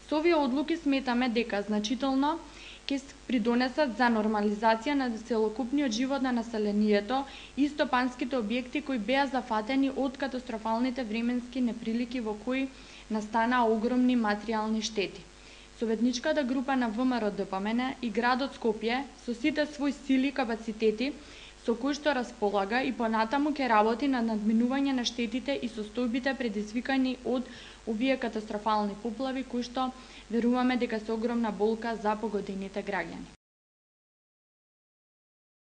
Со овие одлуки сметаме дека значително ќе придонесат за нормализација на целокупниот живот на населението и стопанските објекти кои беа зафатени од катастрофалните временски неприлики во кои настанаа огромни материјални штети. Советничката група на ВМРО-ДПМН и градот Скопје со сите свои сили и капацитети со кои што располага и понатаму ќе работи на надминување на штетите и состојбите предизвикани од овие катастрофални поплави кои што веруваме дека се огромна болка за погодените граѓани.